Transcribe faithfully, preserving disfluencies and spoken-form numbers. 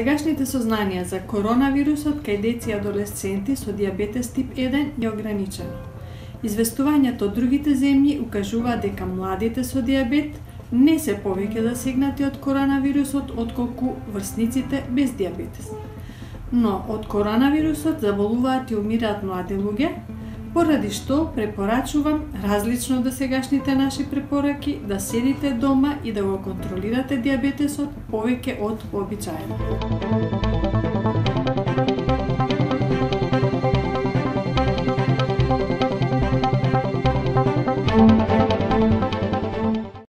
Сегашните сознанија за коронавирусот кај деца и адолесценти со дијабетес тип еден е ограничено. Известувањето од другите земји укажуваат дека младите со дијабет не се повеќе засегнати од коронавирусот отколку врсниците без дијабетес. Но од коронавирусот заболуваат и умираат млади луѓе, поради што препорачувам, различно од сегашните наши препораки, да седите дома и да го контролирате дијабетесот повеќе од вообичаено.